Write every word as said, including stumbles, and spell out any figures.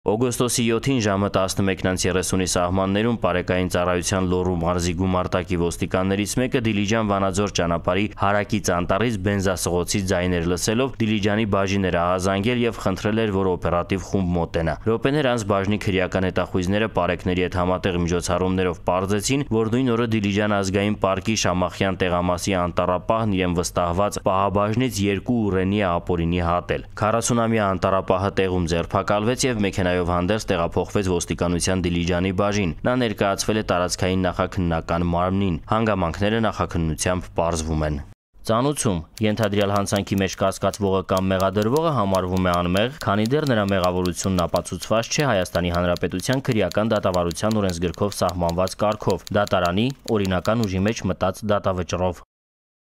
Օգոստոսի յոթին ժամը տասնմեկն երեսունի սահմաններում Պարեկային ծառայության Լոռու մարզի գումարտակի ոստիկաններից մեկը Դիլիջան Վանաձոր ճանապարհի հարակից անտառից բենզասղոցի ձայներ լսելով Դիլիջանի բաժին էր ահազանգել եւ խնդրել էր, որ օպերատիվ խումբ մոտենա։ Րոպեներ անց բաժնի քրեական հետախույզները Պարեկների հետ համատեղ միջոցառումներով պարզեցին, որ նույն օրը Դիլիջան ազգային պարկի Շամախյան տեղամասի անտառապահն իրեն վստահված պահաբաժնից երկու ուռենի է ապօրինի հատել։ քառասունամյա անտառապահը տեղում ձերբակալվեց եւ մեքենա հանդերձ տեղափոխվեց ոստիկանության Դիլիջանի բաժին։ Նա ներկայացվել է տարածքային նախաքննական մարմնին։ Հանգամանքները նախաքննությամբ պարզվում են։ Ծանուցում ենթադրյալ հանցանքի մեջ կասկածվողը կամ մեղադրվողը համարվում է անմեղ, քանի դեռ նրա մեղավորությունն ապացուցված չէ Հայաստանի Հանրապետության քրեական դատավարության օրենսգրքով սահմանված կարգով՝ դատարանի օրինական ուժի մեջ մտած դատավճռով։